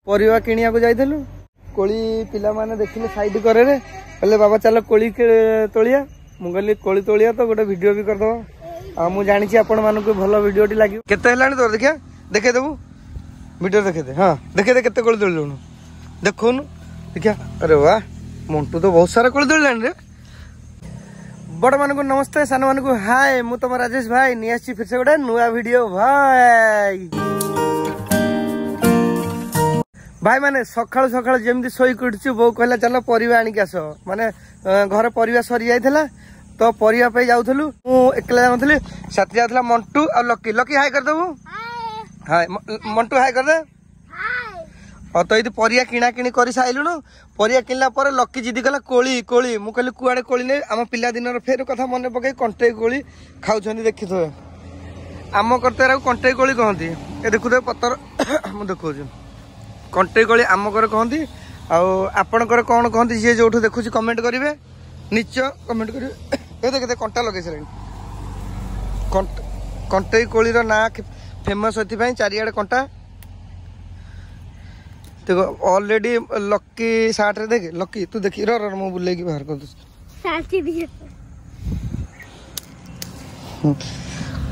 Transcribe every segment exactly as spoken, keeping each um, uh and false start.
ପରିବା କିଣିବାକୁ ଯାଇଥିଲୁ କୋଳି ପିଲାମାନେ ଦେଖିଲେ ସାଇଡ୍ କରରେ କହିଲେ ବାବା ଚାଲ କୋଳି ତୋଳିଆ ମୁଁ କହିଲି କୋଳି ତୋଳିଆ ତ ଗୋଟେ ଭିଡ଼ିଓ ବି କରିଦେବା ଆଉ ମୁଁ ଜାଣିଛି ଆପଣମାନଙ୍କୁ ଭଲ ଭିଡ଼ିଓଟି ଲାଗିବ କେତେ ହେଲାଣି ତୋର ଦେଖିଆ ଦେଖେଇଦେବୁ ଭିଡ଼ିଓ ଦେଖେଇଦେ ହଁ ଦେଖେଇଦେ କେତେ କୋଳି ତୋଳିଲୁଣୁ ଦେଖଉନୁ ଦେଖିଆ ଆରେ ବା ମଣ୍ଟୁ ତ ବହୁତ ସାରା କୋଳି ତୋଳିଲାଣି ରେ ବଡ଼ମାନଙ୍କୁ ନମସ୍ତେ ସାନମାନଙ୍କୁ ହାଏ ମୁଁ ତମ ରାଜେଶ ଭାଇ ନେଇ ଆସିଛି ଫିର ସେ ଗୋଟେ ନୂଆ ଭିଡ଼ିଓ ଭାଇ ଭାଇ ମାନେ ସକାଳୁ ସକାଳୁ ଯେମିତି ଶୋଇକି ଉଠୁଛୁ ବୋଉ କହିଲା ଚାଲ ପରିବା ଆଣିକି ଆସ ମାନେ ଘରେ ପରିବା ସରି ଯାଇଥିଲା ତ ପରିବା ପାଇଁ ଯାଉଥିଲୁ ମୁଁ ଏକଲା ଯାଉନଥିଲି ସାଥି ଯାଉଥିଲା ମଣ୍ଟୁ ଆଉ ଲକି ଲକି ହାଇ କରିଦେବୁ ହାଏ ମଣ୍ଟୁ ହାଇ କରିଦେ ହଁ ତ ଏଇଠି ପରିବା କିଣା କିଣି କରି ସାରିଲୁଣୁ ପରିବା କିଣିଲା ପରେ ଲକି ଜିଦି କଲା କୋଳି କୋଳି ମୁଁ କହିଲି କୁଆଡ଼େ କୋଳି ନେଇ ଆମ ପିଲାଦିନର ଫେର କଥା ମନେ ପକେଇ କଣ୍ଟେଇ କୋଳି ଖାଉଛନ୍ତି ଦେଖିଥିବେ ଆମ କର୍ତ୍ତାକୁ କଣ୍ଟେଇ କୋଳି କହନ୍ତି ଏ ଦେଖୁଥିବେ ପତର ମୁଁ ଦେଖାଉଛି କଣ୍ଟେଇ କୋଳି ଆମ ଘରେ କହନ୍ତି ଆଉ ଆପଣଙ୍କର କ'ଣ କହନ୍ତି ଯିଏ ଯୋଉଠୁ ଦେଖୁଛି କମେଣ୍ଟ କରିବେ ନିଶ୍ଚୟ କମେଣ୍ଟ କରିବେ ଏ ଦେଖ କଣ୍ଟା ଲଗେଇ ସାରିଲେଣି କଣ୍ଟେଇ କୋଳିର ନାଁ ଫେମସ୍ ଏଥିପାଇଁ ଚାରିଆଡ଼େ କଣ୍ଟା ଦେଖ ଅଲରେଡି ଲକି ସାର୍ଟରେ ଦେଖେ ଲକି ତୁ ଦେଖି ର ର ମୁଁ ବୁଲେଇକି ବାହାର କରିଦେଉଛି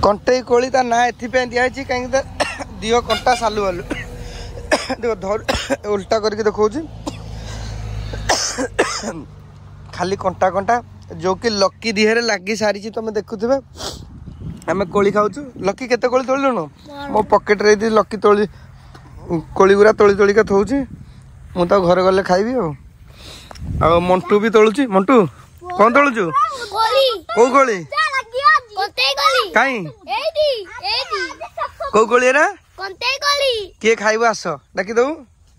କଣ୍ଟେଇ କୋଳି ତା ନାଁ ଏଥିପାଇଁ ଦିଆହେଇଛି କାହିଁକି ତା ଦିହ କଣ୍ଟା ସାଲୁ ବାଲୁ ଦେଖ ଧର ଉଲ୍ଟା କରିକି ଦେଖାଉଛି ଖାଲି କଣ୍ଟା କଣ୍ଟା ଯୋଉ କି ଲକି ଦିହରେ ଲାଗି ସାରିଛି ତମେ ଦେଖୁଥିବେ ଆମେ କୋଳି ଖାଉଛୁ ଲକି କେତେ କୋଳି ତୋଳିଲୁଣୁ ମୋ ପକେଟରେ ଏଇଠି ଲକି ତୋଳି କୋଳି ଗୁରା ତୋଳି ତୋଳିକା ଥୋଉଛି ମୁଁ ତାକୁ ଘରେ ଗଲେ ଖାଇବି ଆଉ ଆଉ ମଣ୍ଟୁ ବି ତୋଳୁଛି ମଣ୍ଟୁ କଣ ତୋଳୁଛୁ କୋଉ କୋଳି କାଇଁ କୋଉ କୋଳି ଏରା କିଏ ଖାଇବ ଆସ ଡାକିଦବୁ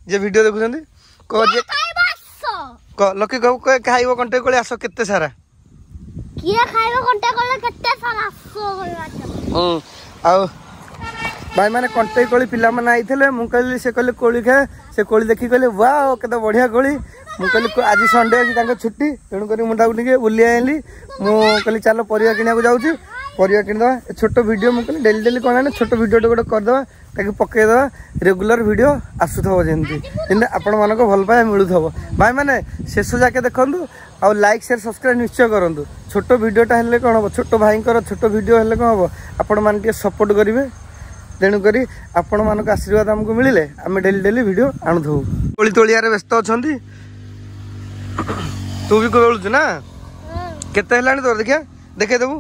ଯିଏ ଭିଡିଓ ଦେଖୁଛନ୍ତି କହ ଯିଏ ଲକି କହୁ ଖାଇବ କଣ୍ଟେଇ କୋଳି ଆସ କେତେ ସାରା କିଏ ଖାଇବ କଣ୍ଟା କୋଳି କେତେ ସାରା ହୁଁ ଆଉ ଭାଇମାନେ କଣ୍ଟେଇ କୋଳି ପିଲାମାନେ ଆଇଥିଲେ ମୁଁ କହିଲି ସେ କହିଲେ କୋଳି ଖାଏ ସେ କୋଳି ଦେଖି କହିଲେ ୱାଓ କେତେ ବଢ଼ିଆ କୋଳି ମୁଁ କହିଲି ଆଜି ସଣ୍ଡେ ଅଛି ତାଙ୍କ ଛୁଟି ତେଣୁକରି ମୁଁ ତାକୁ ଟିକେ ବୁଲି ଆଣିଲି ମୁଁ କହିଲି ଚାଲ ପରିବା କିଣିବାକୁ ଯାଉଛି ପରିବା କିଣିଦେବା ଛୋଟ ଭିଡ଼ିଓ ମୁଁ କହିଲି ଡେଲି ଡେଲି କ'ଣ ଆଣେ ଛୋଟ ଭିଡ଼ିଓଟେ ଗୋଟେ କରିଦେବା ତାକୁ ପକେଇଦେବା ରେଗୁଲାର ଭିଡ଼ିଓ ଆସୁଥିବ ଯେମିତି ଯେମିତି ଆପଣମାନଙ୍କ ଭଲ ପାଇବା ମିଳୁଥିବ ଭାଇମାନେ ଶେଷ ଯାକେ ଦେଖନ୍ତୁ ଆଉ ଲାଇକ୍ ସେୟାର ସବସ୍କ୍ରାଇବ୍ ନିଶ୍ଚୟ କରନ୍ତୁ ଛୋଟ ଭିଡ଼ିଓଟା ହେଲେ କ'ଣ ହେବ ଛୋଟ ଭାଇଙ୍କର ଛୋଟ ଭିଡ଼ିଓ ହେଲେ କ'ଣ ହେବ ଆପଣମାନେ ଟିକେ ସପୋର୍ଟ କରିବେ ତେଣୁକରି ଆପଣମାନଙ୍କ ଆଶୀର୍ବାଦ ଆମକୁ ମିଳିଲେ ଆମେ ଡେଲି ଡେଲି ଭିଡ଼ିଓ ଆଣୁଥିବୁ କୋଳି ତୋଳିଆରେ ବ୍ୟସ୍ତ ଅଛନ୍ତି ତୁ ବି ତୋଳୁଛୁ ନା କେତେ ହେଲାଣି ତୋର ଦେଖିଆ ଦେଖେଇଦେବୁ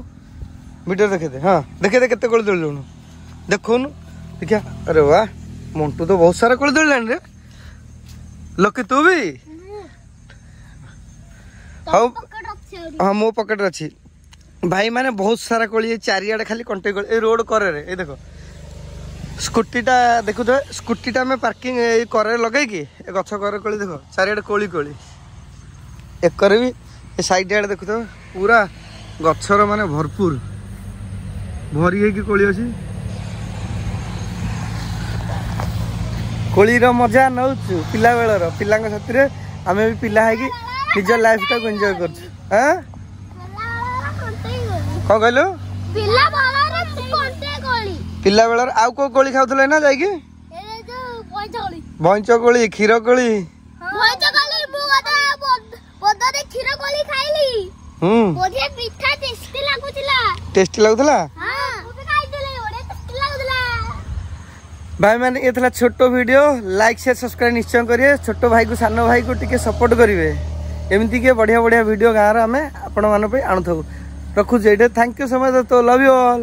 ଭିଡ଼ିଓ ଦେଖେଇଦେ ହଁ ଦେଖେଇଦେ କେତେ କୋଳି ତୋଳିଲୁଣୁ ଦେଖଉନୁ ଦେଖିଆ ଆରେ ବା ମଣ୍ଟୁ ତ ବହୁତ ସାରା କୋଳି ତୋଳିଲାଣି ରେ ଲକି ତୁ ବି ହଉ ହଁ ମୋ ପକେଟରେ ଅଛି ଭାଇ ମାନେ ବହୁତ ସାରା କୋଳି ଚାରିଆଡ଼େ ଖାଲି କଣ୍ଟେଇ କୋଳି ଏଇ ରୋଡ଼ କରରେ ଏଇ ଦେଖ ସ୍କୁଟିଟା ଦେଖୁଥିବେ ସ୍କୁଟିଟା ଆମେ ପାର୍କିଂ ଏଇ କରରେ ଲଗେଇକି ଏ ଗଛ କରରେ କୋଳି ଦେଖ ଚାରିଆଡ଼େ କୋଳି କୋଳି ଏକରେ ବି ଏ ସାଇଡ୍ ଆଡ଼େ ଦେଖୁଥିବେ ପୁରା ଗଛର ମାନେ ଭରପୁର ଭରି ହେଇକି କୋଳି ଅଛି କୋଳିର ମଜା ନେଉଛୁ ପିଲାବେଳର ପିଲାଙ୍କ ସାଥିରେ ଆମେ ବି ପିଲା ହେଇକି ନିଜ ଲାଇଫଟାକୁ ଏନ୍ଜୟ କରୁଛୁ ଆଁ କଣ କହିଲୁ ପିଲା ବେଳର ଆଉ କୋଉ କୋଳି ଖାଉଥିଲେ ନା ଯାଇକି ବଇଁଚ କୋଳି କ୍ଷୀର କୋଳି ହୁଁ ଟେଷ୍ଟି ଲାଗୁଥିଲା ଭାଇ ମାନେ ଏ ଥିଲା ଛୋଟ ଭିଡ଼ିଓ ଲାଇକ୍ ସେୟାର ସବସ୍କ୍ରାଇବ୍ ନିଶ୍ଚୟ କରିବେ ଛୋଟ ଭାଇକୁ ସାନ ଭାଇକୁ ଟିକେ ସପୋର୍ଟ କରିବେ ଏମିତି କି ବଢ଼ିଆ ବଢ଼ିଆ ଭିଡ଼ିଓ ଗାଁର ଆମେ ଆପଣମାନଙ୍କ ପାଇଁ ଆଣୁଥାଉ ରଖୁଛି ଏଇଟା thank you so much ତ ଲଭ୍ you all